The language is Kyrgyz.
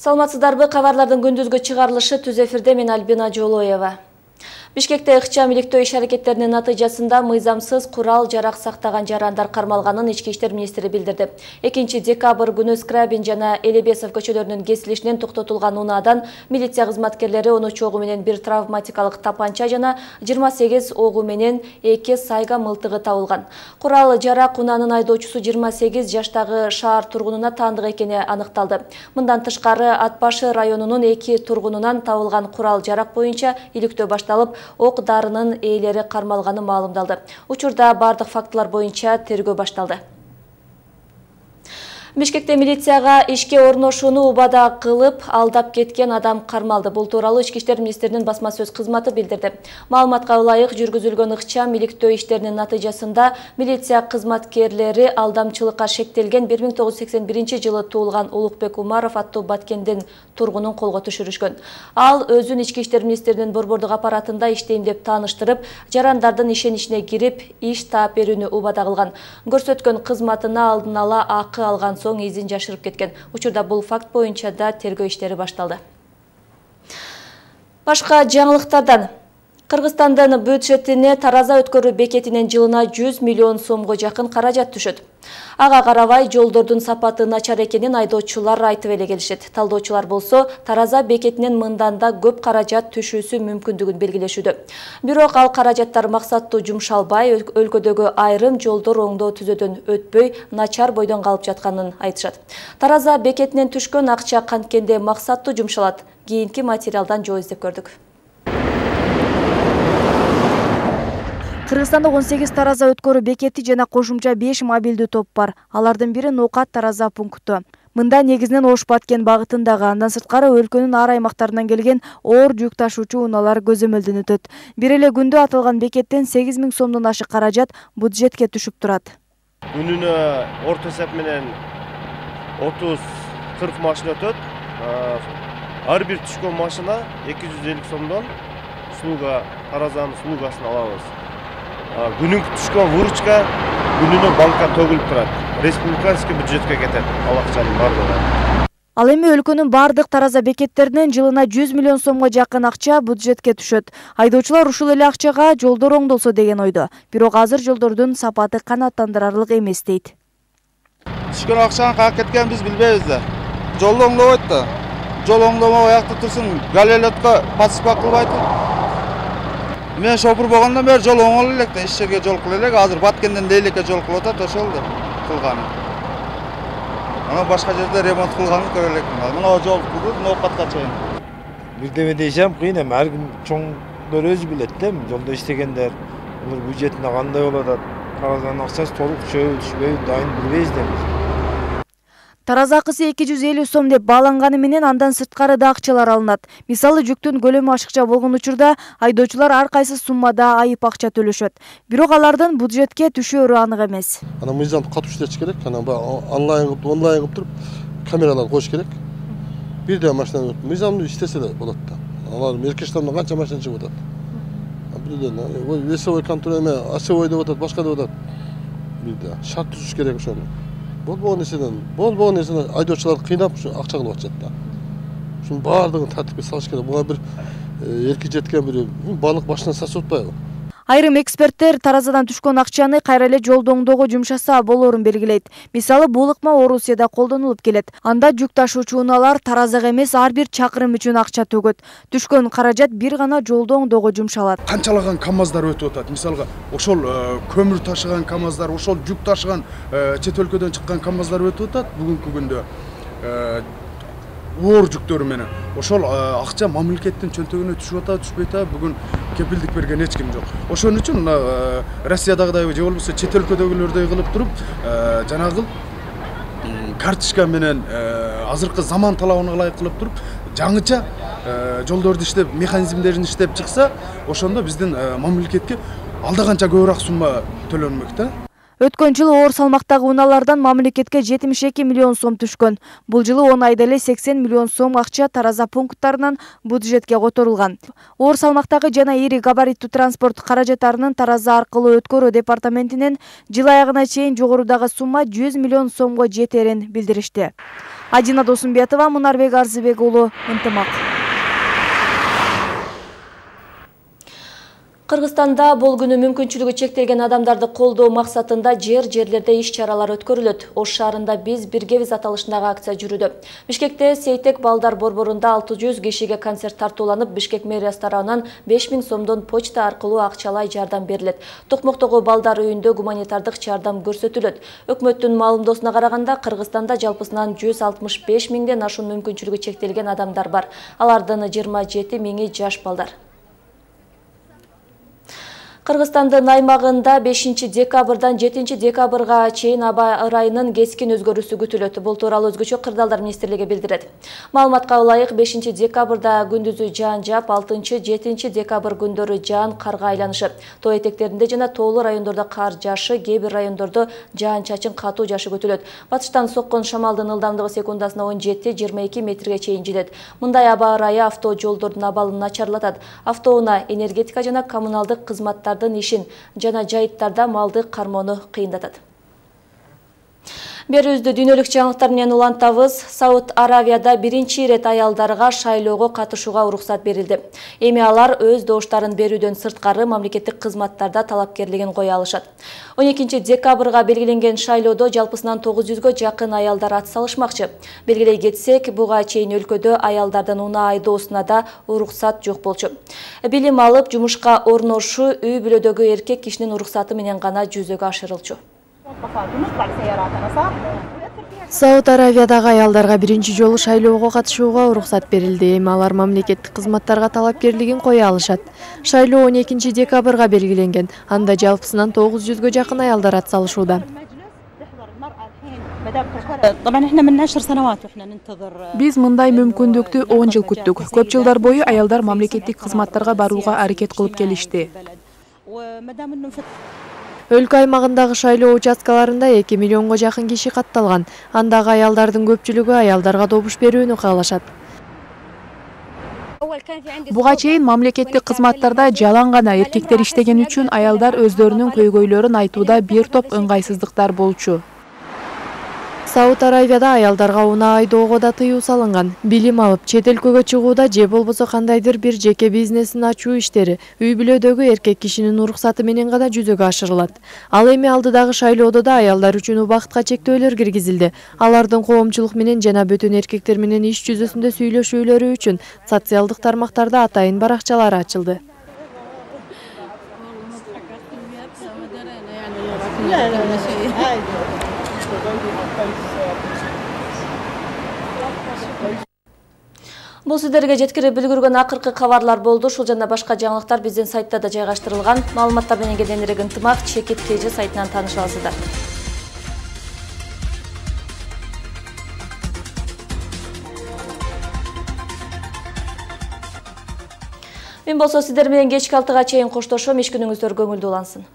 Саламатсыздарбы, кабарлардын күндүзгү чыгарылышы түз эфирде мен Альбина Жолоева. Бишкекте ыкчам иликтөө иш-аракеттеринин натыйжасында мыйзамсыз курал жарак сактаган жарандар кармалганын Ички иштер министри билдирди. 2 декабрь күнү Скрабин жана Элебесов көчөлөрүнүн кесилишинен токтотулган унаадан милиция кызматкерлери 13 огу менен бир травматикалык тапанча жана 28 огу менен 2 сайга мылтыгы табылган. Курал жарак унаанын айдоочусу 28 жаштагы шаар тургунуна таандык экени аныкталды. Мындан тышкары Атбашы районунун 2 тургунунан табылган курал жарак боюнча иликтөө башталып, ок-дарынын ээлери кармалганы маалымдалды. Учурда бардык фактылар боюнча тергөө башталды. Бишкекте милицияга ишке орношууну убада кылып, алдап кеткен адам кармалды. Бул тууралуу Ички иштер министринин басма сөз кызматы билдирди. Маалыматка ылайык жүргүзүлгөн ыкчам иликтөө иштеринин натыйжасында милиция кызматкерлери алдамчылыкка шектелген 1981 жылы туулган Улукбек Умаров аттуу Баткендин тургунун колго түшүрүшкөн. Ал өзүн Ички иштер министринин борбордук аппаратында иштейм деп тааныштырып, жарандардын ишеничине кирип, иш таап берүүнү убада кылган. Көрсөткөн кызматына алдын ала акы алган соң изин жашырып кеткен. Учурда бул факт боюнча да тергөө иштери башталды. Башка жаңылыктардан Кыргызстандын бюджетине Тараза өткөрүү бекетинен жылына 100 миллион сомго жакын каражат түшөт. Ага карабай жолдордун сапаты начар экенин айдоочулар айтып эле келишет. Талдоочулар болсо Тараза бекетинен мындан да көп каражат түшүүсү мүмкүндүгүн белгилешүүдө. Бирок ал каражаттар максаттуу жумшалбай, өлкөдөгү айрым жолдор оңдоо түзөдөн өтпөй, начар бойдон калып жатканын айтышат. Тараза бекетинен түшкөн акча канткенде максаттуу жумшалат. Кийинки материалдан жоо издеп көрдүк. Кыргызстанда 18 Тараза өткөрүү бекети жана кошумча 5 мобилдүү топ бар. Алардын бири Ноокат Тараза пункту. Мында негизинен Ош-Баткен багытындагы, андан сырткары өлкөнүн ар аймактарынан келген оор жүк ташуучу унаалар көзөмөлдөн өтөт. Бир эле күндө аталган бекеттен 8 000 сомдон ашык каражат бюджетке түшүп турат. Күнүнө орто эсеп менен 30-40 машина өтөт. Ар бир түшкөн машина 250 сомдон Таразанын услугасын алабыз. Күнүнкү түшкөн выручка күнүнө банкка төгүлүп турат. Республиканский бюджетке кетет ал акчанын бардыгы. Ал эми өлкөнүн бардык Тараза бекеттеринен жылына 100 миллион сомго жакын акча бюджетке түшөт. Айдоочулар ушул эле акчага жолдор оңдолсо деген ойдо. Бирок азыр жолдордун сапаты канааттандырарлык эмес дейт. Түшкөн акчанын каяка кеткенин биз билбейбиз да. Жол оңдобойт да. Жол оңдомой аякта турсун, галелетке подсыпка кылбайт. Мен шопур болгондон бери жол оңоло элек да, иш жерге жол кыла элек. Азыр Баткенден Лейлекке жол кылып атат, ошол да кылганы. Ана башка жерде ремонт кылганын көрө элекмин. Мына жол кылып Ноокатка чейин. Бирдеме десем кыйын эми, ар ким чоңдор өзү билет да, жолдо иштегендер, булар бюджетине кандай болуп атат, Таразанын акчасы толук түшөбү, түшпөйбү, дайын билбейбиз да. Тараза акысы 250 сом деп бааланганы менен андан сырткары да акчалар алынат. Мисалы жүктүн көлөмү ашыкча болгон учурда айдоочулар ар кайсы суммада айып акча төлөшөт. Бирок алардын бюджетке түшөөрү анык эмес. Ана мыйзамды катуу иштетиш керек. Ана онлайн кылып туруп камералар коюш керек. Бирде машина мыйзамды иштесе эле болот да. Алар меркештардан канча машина чыгып атат. Бирден весовой контроль эме, осевой деп атат, башка деп атат. Бирде шарт түзүш керек ошону. Болбогон нерсени айдоочуларды кыйнап акча кылып атышат да. Ушунун баардыгын тартипке салыш керек. Буга бир эрки жеткен бир балык башынан сасып атпайбы? Айрым эксперттер Таразадан түшкөн акчаны кайра эле жолду оңдоого жумшаса болоорун белгилейт. Мисалы, бул ыкма Орусияда колдонулуп келет. Анда жүк ташуучу унаалар Таразага эмес, ар бир чакырым үчүн акча төгөт. Түшкөн каражат бир гана жолду оңдоого жумшалат. Канчалаган КАМАЗдар өтүп атат. Мисалга, ошол көмүр ташыган КАМАЗдар, ошол жүк ташыган чет өлкөдөн чыккан КАМАЗдар өтүп атат бүгүнкү күндө. Оор жүктөрү менен ошол акча мамлекеттин чөнтөгүнө түшүп атабы, түшпөй атабы, бүгүн кепилдик берген эч ким жок. Ошон үчүн Россиядагыдай же болбосо чет өлкөдөгүлөрдөй кылып туруп, жанагы карточка менен азыркы заман талабына ылайык кылып туруп, жаңыча жолдорду иштеп, механизмдерин иштеп чыкса, ошондо биздин мамлекетке алда канча көбүрөөк сумма төлөнмөк да. Өткөн жылы оор салмактагы унаалардан мамлекетке 72 миллион сом түшкөн. Бул жылы 10 айда эле 80 миллион сом акча тараза пункттарынан бюджетке которулган. Оор салмактагы жана ири габариттүү транспорт каражаттарынын тараза аркылуу өткөрүү департаментинен жыл аягына чейин жогорудагы сумма 100 миллион сомго жетерин билдиришти. Адина Досумбетова, Мунарбек Арзыбек уулу, Ынтымак. Кыргызстанда бул күнү мүмкүнчүлүгү чектелген адамдарды колдоо максатында жерлерде иш-чаралар өткөрүлөт. Ош шаарында биз биргебиз аталышындагы акция жүрүүдө. Бишкекте Сейтек балдар борборунда 600 кишиге концерт тартууланып, Бишкек мэриясы тарабынан 5000 сомдон почта аркылуу акчалай жардам берилет. Токмоктогу балдар үйүндө гуманитардык жардам көрсөтүлөт. Өкмөттүн маалымдоосуна караганда, Кыргызстанда жалпысынан 165 миңден ашуун мүмкүнчүлүгү чектелген адамдар бар. Алардын 27 миңи жаш балдар. Кыргызстандын аймагында 5 декабрдан 7 декабрга чейин аба ырайынын кескин өзгөрүүсү күтүлөт. Бул тууралуу өзгөчө Кырдаалдар министрлиги билдирет. Маалыматка ылайык 5 декабрда күндүзү жаан жаап, 6-7 декабр күндөрү жаан карга айланышы. Тоо этектеринде жана тоолуу райондордо кар жаашы, кээ бир райондордо жаан-чачын катуу жаашы күтүлөт. Батыштан соккон шамалдын ылдамдыгы секундасына 17-22 метрге чейин жетет. Мындай аба ырайы авто жолдордун абалын начарлатат. Автоунаа, энергетика жана коммуналдык кызматтар ишин жана жайыттарда малды кармоону кыйындатат. Берүүбүздү дүйнөлүк жаңылыктар менен улантабыз. Сауд Аравияда биринчи ирет аялдарга шайлоого катышууга уруксат берилди. Эми алар өз добуштарын берүүдөн сырткары мамлекеттик кызматтарда талапкерлигин кое алышат. 12 декабрга белгиленген шайлоодо жалпысынан 900гө жакын аялдар ат салышмакчы. Белгилей кетсек, буга чейин өлкөдө аялдардын унаа айдоосуна да уруксат жок болчу. Билим алып, жумушка орношуу үй бүлөдөгү эркек кишинин уруксаты менен гана жүзөгө ашырылчу. Сауд Аравиядагы аялдарга биринчи жолу шайлоого катышууга уруксат берилди. Эми алар мамлекеттик кызматтарга талапкерлигин кое алышат. Шайлоо 12 декабрга белгиленген. Анда жалпысынан 900гө жакын аялдар ат салышууда. Биз мындай мүмкүндүктү 10 жыл күттүк. Көп жылдар бою аялдар мамлекеттик кызматтарга барууга аракет кылып келишти. Өлкө аймагындагы шайлоо участкаларында 2 миллионго жакын киши катталган. Андагы аялдардын көпчүлүгү аялдарга добуш берүүнү каалашат. Буга чейин мамлекеттик кызматтарда жалаң гана эркектер иштеген үчүн аялдар өздөрүнүн көйгөйлөрүн айтууда бир топ ыңгайсыздыктар болчу. Сауд Аравияда аялдарга унаа айдоого да тыюу салынган. Билим алып, чет өлкөгө чыгууда же болбосо кандайдыр бир жеке бизнесин ачуу иштери үй бүлөдөгү эркек кишинин уруксаты менен гана жүзөгө ашырылат. Ал эми алдыдагы шайлоодо да аялдар үчүн убакытка чектөөлөр киргизилди. Алардын коомчулук менен жана бүтүн эркектер менен иш жүзөсүндө сүйлөшүүлөрү үчүн социалдык тармактарда атайын баракчалар ачылды. Бул сиздерге жеткирип үлгүргөн акыркы кабарлар болду. Ушул жана башка жаңылыктар биздин сайтта да жайгаштырылган. Маалыматтар менен кененирээк Ынтымак Чекит КЖ сайтынан тааныша аласыздар. Мен болсо сиздер менен кечки 6-га чейин коштошом. Иш күнүңүздөр көңүлдүү улансын.